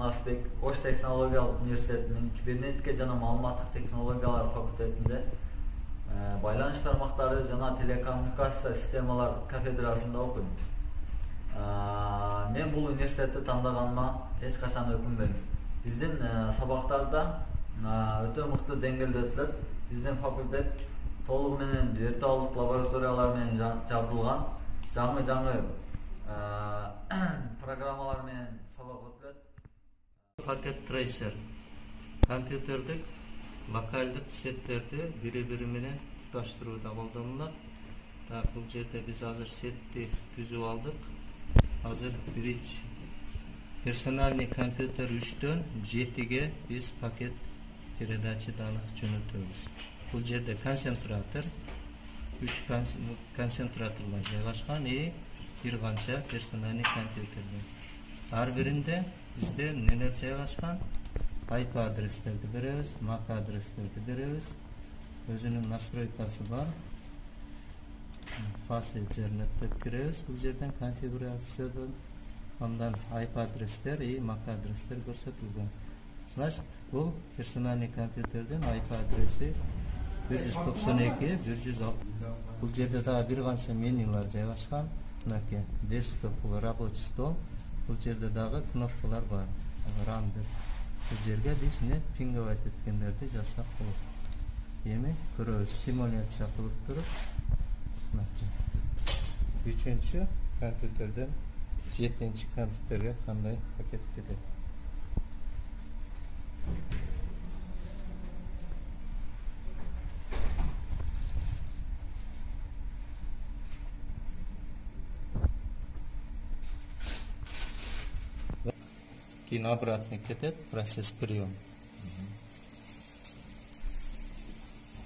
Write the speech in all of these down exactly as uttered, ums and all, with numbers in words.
Ырназбек Ош технологиялык университетинин кибернетика жана маалыматтык технологиялар факультетинде байланыш тармактары жана телекоммуникация системалар кафедрасында окуйм. Мен бул университетти тандagaныма эч качан өкүнбөйм. Биздин сабактарда өтө мыкты деңгээлде өтүлөт. Биздин факультет толугу менен виртуалдык лабораториялар менен жабдылган, жаңы-жаңы программалар менен сабак өтүлөт. Packet Tracer компьютердик локалдык сеттерди бири-бири менен туташтырууда колдонулат. Так, бул жерде биз азыр сетти түзүп алдык. Азыр биринчи персональный компьютер үчтөн жетиге биз пакет передача данных жөнөтөбүз. Бул жерде концентратор, үч концентраторлар жайгашкан и бир канча персональный компьютерлер. Ар биринде бизде нелер жайгашкан? I P адрестерди беребиз, M A C адрестерди беребиз. Өзүнүн настройкасы бар. Fast Ethernet деп киребиз. Бул жерден конфигурациядан андан I P адрестер и M A C адрестер көрсөтүлгөн. Значит, бул персональный компьютердин I P адреси бир жүз токсон эки бир жүз алтымыш. Бул жерде дагы бир канча менюлар жайгашкан. Мынакей десктоп, бул рабочий стол. Бул жерде дагы кнопкалар бар. Run деп. Бул жерге биз не пинговать эткендерди жазсак болот. Эми көрөбүз, симуляция кылып туруп. Үчүнчү компьютерден жетинчи компьютерге кандай пакет кетет. Кийин обратный кетет, процесс прием.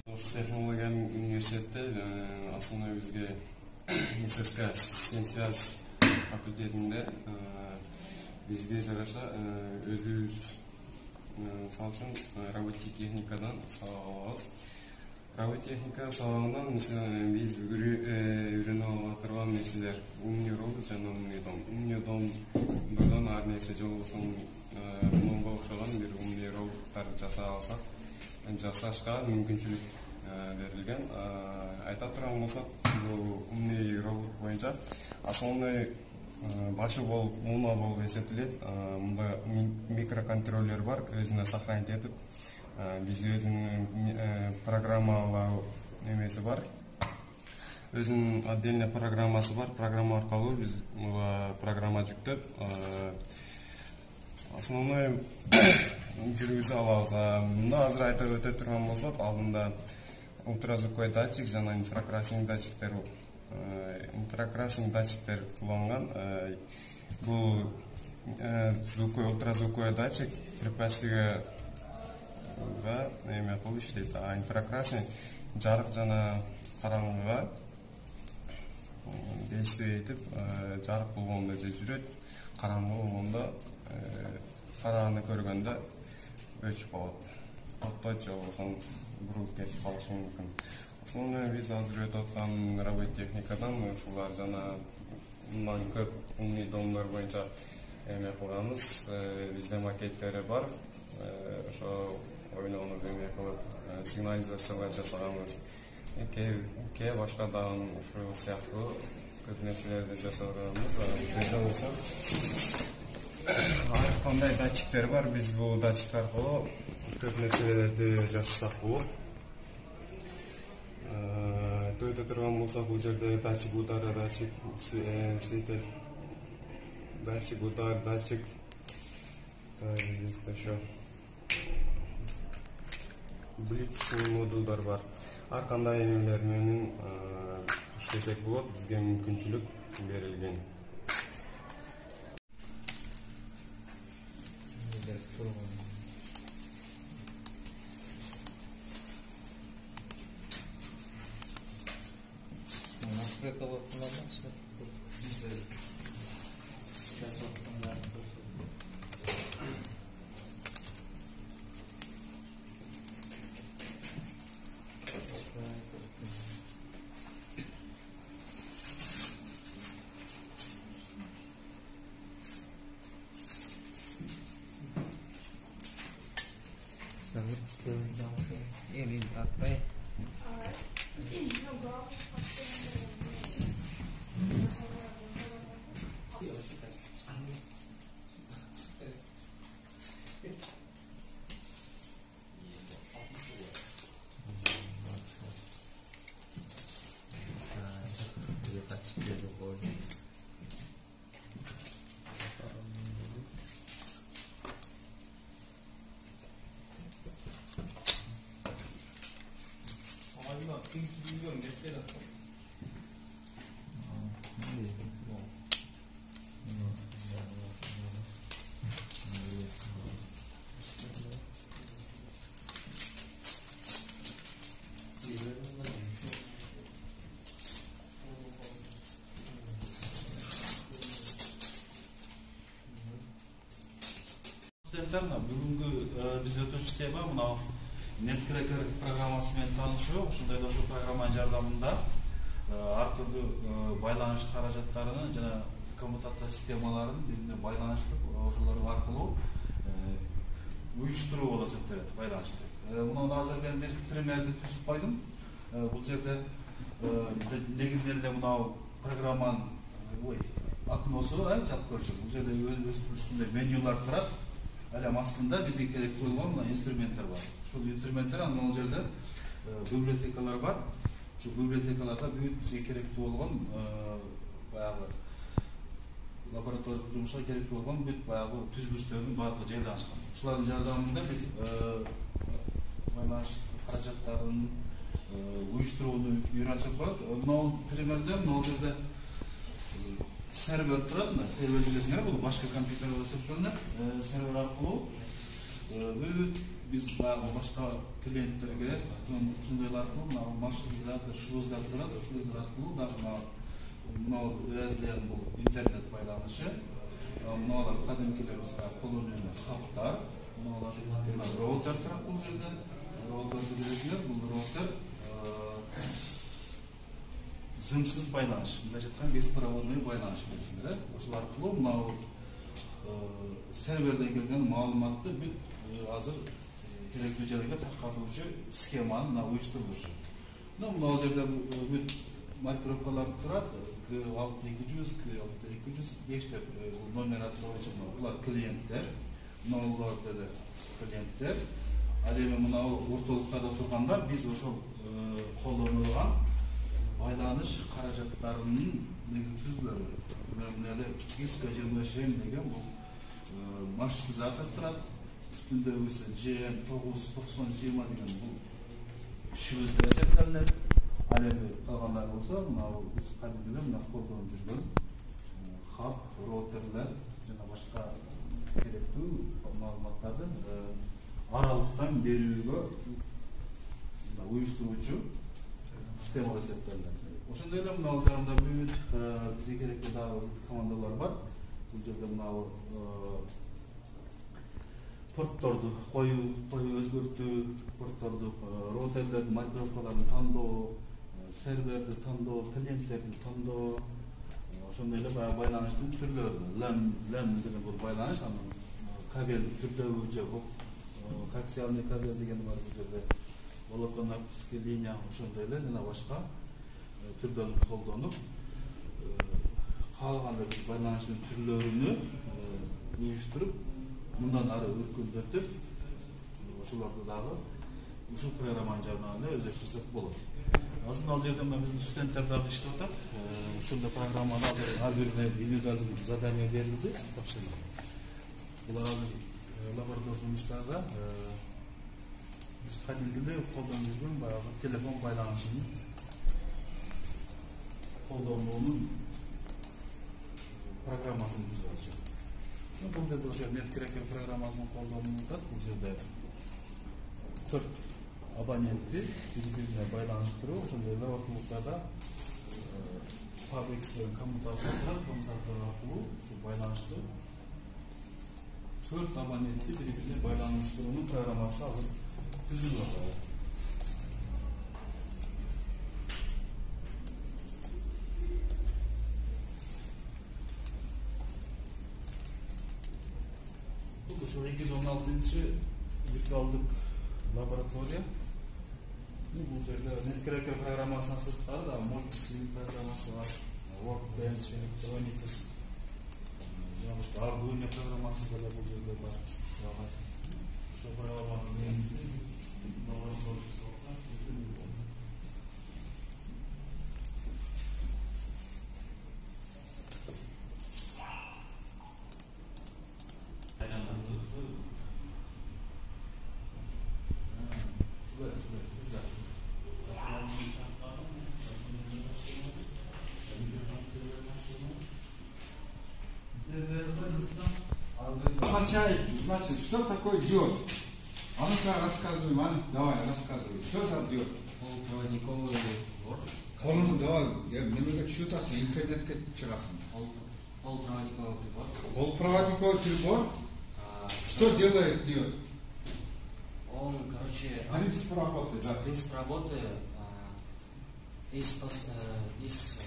Ош технологиялык университетте основной бизге эс эс ка систем связь факультетинде бизге жараша өзүбүз мисалы үчүн робототехникадан сабак алабыз. Робототехника сабагынан биз үйрөнүп ала турган нерселер умный робот жана умный дом. Умный домдон ар нерсе же болбосо монго окшогон бир умный роботтар жасай алсак, жасашка мүмкүнчүлүк берилген. Айта турган болсок, бул умный робот боюнча основной башы болуп муна болуп эсептелет. Мында микроконтроллер бар, өзүнө сохранить этип, бизге өзүнүн программалоо эмеси бар. Өзүнүн отдельный программасы бар. Программа аркылуу биз программа жүктөп основной жүргүзө алабыз. Мында азыр айтып өтө турган болсок, алдында ультразвуковой датчик жана инфракрасный датчиктер, инфракрасный датчиктер кулланган. Бул звуковой, ультразвуковой датчик препятствиега эме кылып иштейт. А инфракрасный жарык жана караңгыга действие этип, жарык болгондо же жүрөт, караңгы болгондо караны көргөндө өчүп калат. Токтойт же болбосо буруп кетип калышы мүмкүн. Основной биз азыр өтүп аткан робототехникадан ушулар жана мындан көп умный домдор боюнча эме кылганбыз. Бизде макеттери бар. Ошо ойнонуп эме кылып сигнализациялар жасаганбыз. Кээ башка дагы ушул сыяктуу көп нерселерди жасаганбыз. Жерде болсо ар кандай датчиктер бар. Биз бул датчик аркылуу көп нерселерди жасасак болот. Өтө турган болсок, бул жерде датчик удара, датчик светер, датчик удар, датчик еще Bluetooth модулдар бар. Ар кандай эмелер менен иштесек болот, бизге мүмкүнчүлүк берилген. Эми атпай. Бүгүнкү биз өтүүчү тема мына NetCracker программасы менен таанышуу. Ушундай эле ушул программанын жардамында ар түрдүү байланыш каражаттарын жана коммутация системаларын бири-бирине байланыштырып, ошолор аркылуу уюштуруу болуп эсептелет, байланышты. Мына азыр мен бир примерди түзүп койдум. Бул жерде негизинен эле мына программанын ой окносу чап көрсөт. Бул жерде өз үстүндө менюлар турат. Алам астында бизге керектүү болгон мына инструменттер бар. Ушул инструменттер анан ал жерде библиотекалар бар. Ушул библиотекаларда бүт бизге керектүү болгон баягы лабораториялык жумушка керектүү болгон бүт баягы түзүлүштөрдүн баардыгы жайлашкан. Ушулардын жардамында биз байланыш каражаттарын уюштурууну үйрөнсөк болот. Мына примерде мына жерде сервер турат, сервер билесиңер, бул башка компьютерлер эсептелет. Сервер аркылуу бүт биз баягы башка клиенттерге ушундайлар аркылуу мына маршруттарды, шлюздер турат, ушулар аркылуу дагы мына өзүнүн бул интернет байланышы, мыналар кадимкилер бизге колдонуу үчүн хаптар, мыналар роутер турат бул жерде. Роутерди билесиңер, бул роутер зымсыз байланыш, мындайча айтканда беспроводной байланыш билесиңер. Ошол аркылуу мына серверден келген маалыматты бүт азыр керектүү жерге таркатуучу схеманы мына уюштурулушу. Мына жерде бүт маркировкалар турат. К алты эки жүз, К алты эки жүз бештеп нумерация боюнча булар клиенттер. Мыналар деле клиенттер. Ал эми мына ортолуктарда турганда биз ошол колдонулган байланыш каражаттарынын түзүлөрү. Мына эле диск жыйырма үч эм деген бул маршрутизатор турат. Үстүндөгүсү Ж М тогуз токсон жыйырма деген бул шлюздер эсептелет. Ал эми калгандар болсо мына биз кадимден мына колдонуп жүргөн хаб, роутерлер жана башка керектүү маалыматтарды аралыктан берүүгө уюштуруучу система эсептелет. Ошондой эле мына жагында бүт бизге керектүү дагы командалар бар. Бул жерде мына портторду коюу, коюу өзгөртүү, портторду, роутерлердин маркировкаларын тандоо, серверди тандоо, клиенттерди тандоо, ошондой эле баягы байланыштын түрлөрү. LAN, LAN деген бул байланыш, анан кабель түрдөгү же коаксиальный кабель деген бар бул жерде. Волоконно-оптический линия, ошондой эле жана башка түрдөн колдонуп, каалагандай биз байланыштын түрлөрүнү уюштуруп, мындан ары өркүндөтүп, ошолорду дагы ушул программанын жардамы өздөштүрсөк болот. Азыр ал жерде мына биздин студенттер дагы иштеп атат. Ушундай программаны азыр ар бирине индивидуалдуу задание берилди, тапшырылды. Булар азыр лаборатория жумуштарда биз кадимгидей колдонуп жүргөн баягы телефон байланышын колдонуунун программасын түзүп атышат. Бул жерде ошо NetCracker программасынын колдонууда бул жерде төрт абонентти бири-бирине байланыштыруу, ошондой эле ортолуктарда PubX деген коммутатор, коммутатор аркылуу ушу байланышты төрт абонентти бири-бирине байланыштыруунун программасы азыр түзүлүп атат. Ушул эки жүз он алтынчы виртуалдык лаборатория. Ну, бул жерде Netcracker программасынан сырткары да Multisim программасы бар, Workbench, Electronics, Arduino программасы да бул жерде бар. Ошо программаны лабораториясы бар. Означает, значит, что такое диод? А ну-ка рассказывай, Ман, давай, рассказывай. Что за диод? Полупроводниковый блок. Колун, давай, я немного чутасы, интернетке чыгасын. Полупроводниковый прибор. Полупроводниковый прибор. А, Что делает диод? Он, короче, Принцип работы, да. принцип работы а, из, пос- э, из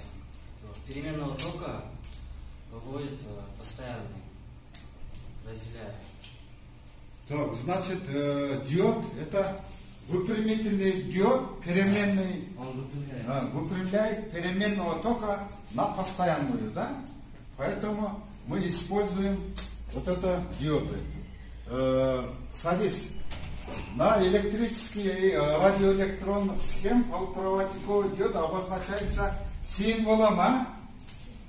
э, переменного тока выводит э, постоянный, разделяя. Так, значит, э, диод это выпрямительный диод, переменный, Он выпрямляет. э, выпрямляет переменного тока на постоянную, да? Поэтому мы используем вот это диоды. Э, садись. На электрические и радиоэлектронных схем полупроводниковый диод обозначается символом, а?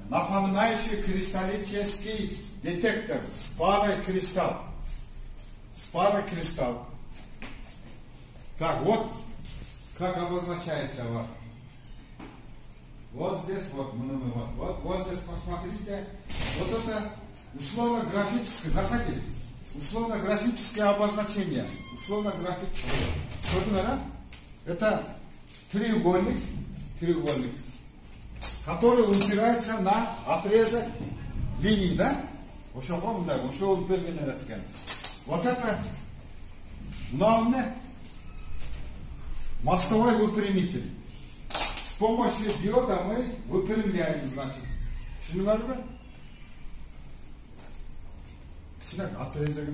Напоминающий кристаллический детектор с парой кристалл. С парой кристалл. Так, вот как обозначается вот. Вот здесь вот, вот, вот, вот здесь посмотрите. Вот это условно-графическое, заходи. Условно-графическое обозначение. Условно-графическое. Что это треугольник, треугольник, который упирается на отрезок линий, да? Вот это главное мостовой выпрямитель. С помощью диода мы выпрямляем, значит. Шunu var mı? Sinan, отрезок.